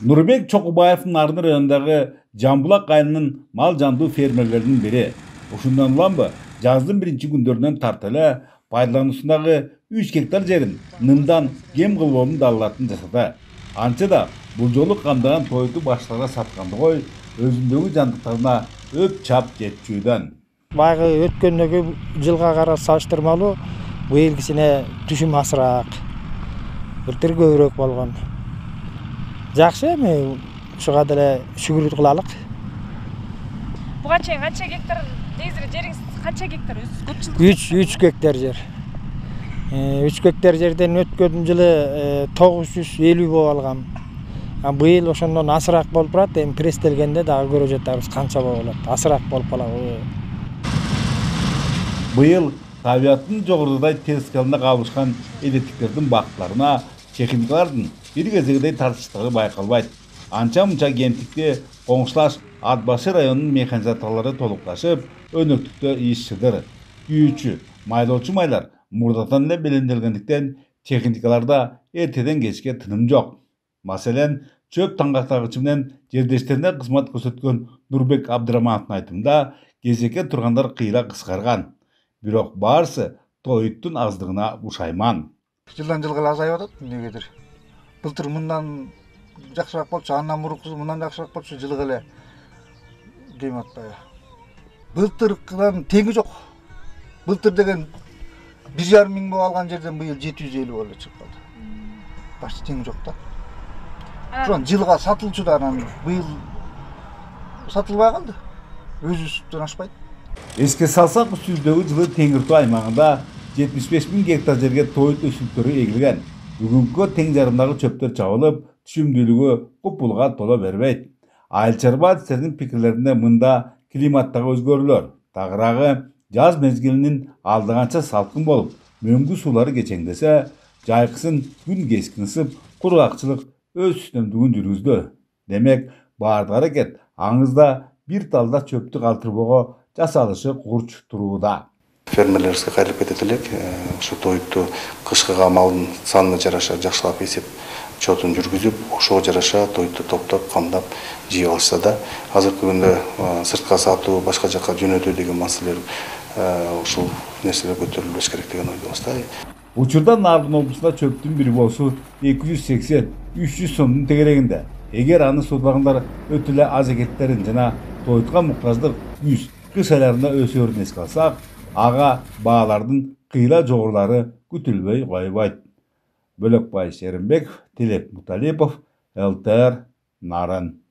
Нурбек Чокубаевдин Арын районундагы Жамбулак айылынын мал жандуу фермерлеринин бири. Ушундан уламбы жаздын биринчи күндөрүнөн тарта эле пайдалануусундагы 3 гектар жерин нымдан кем кылбоомун далалатын жасады. Анча да бул жолу камдаган тойту башкаларга сатканды кой, өзүндөгү жандыктарына өп чап жетчүдөн. Баягы өткөндөгү жылга карап салыштырмалуу быйылгысына түшүм азыраак, былтыр көбүрөөк болгон. Жакшы эми ушуга деле шүгүр кылалык. Буга чейин канча гектар негизи жериңиз канча гектар өзү көп жылдык? 3 гектар жер. 3 гектар жерден өткөн жылы 950 болуп алгам. Быйыл ошондон азыраак болуп турат. Эми пресстелгенде дагы көрө жатабыз канча болот. Азыраак болуп калабы. Быйыл табиаттын жогорудагы тез скалына кабылышкан электиктердин бактыларына техникалардын бир кезегидей тартыштыгы байкалбайт. Анча-мынча кемтикте коңшулаш Ат башы районунун механизаторлору толукташып, өнөктүктө иш чыдыр. Күйүүчү, майлоочу майлар мурдатан эле белемделгендиктен техникаларда эртеден кечке тыным жок. Маселен, чөп таңгактагычы менен жердештерине кызмат көрсөткөн Нурбек Абдырамановдун айтымында кезекке тургандар кыйла кыскарган. Бирок баарысы тоюттун аздыгына бушайман. Жылдан жылга эле азайып атат эмнегедир. Былтыр мындан жакшыраак болчу, андан мурункусу мындан жакшыраак болчу, жылга эле дейм атпайбы. Былтыркыдан теңи жок. Былтыр деген 1,5 миң болуп алган жерден быйыл 750 болуп чыгып калды. Башка теңи жок да. Ошон жылга сатылчу да анан быйыл сатылбай калды. Өзүбүздөн ашпайт. Эске салсак, үстүбүздөгү жылы Теңиртау аймагында 75 миң гектар жерге тоют өсүмдүктөрү эгилген. Бүгүнкү тең жарымдагы чөптөр чабылып, түшүмдүүлүгү купулга тола бербейт. Айыл чарбаатчылардын пикирлеринде мында климаттагы өзгөрүүлөр, тагыраагы жаз мезгилинин алдыганча салкын болуп, мөңгү суулары кечеңдесе, жайкысын күн кескин ысып, кургакчылык өз үстөмдүгүн жүргүздү. Демек, баардык аракет аңызда бир талда чөптү калтырбоого жасалышы курч турууда. Фермерлерибизге кайрылып кетет элек, ушу тоютту кышкыга малдын санына жараша жакшылап эсеп чотун жүргүзүп, ошого жараша тоютту топтоп, камдап жыйып алышса да, азыркы күндө сыртка сатуу, башка жакка жөнөтүү деген маселелер ушул нерселер көтөрүлбөш керек деген ойдобуз да. Учурда Нарын облусунда чөптүн бир болсу 280-300 сомдун тегерегинде. Эгер аны сотпагандар өтө эле аз экендиктерин жана тоютка муктаждык күз, кыш айларында өсөөрүн эске алсак, ага баалардын кыйла жогорулары күтүлбөй койбойт. Бөлөкбай Шеримбеков, Тилек Муталипов, ЛТР, Нарын.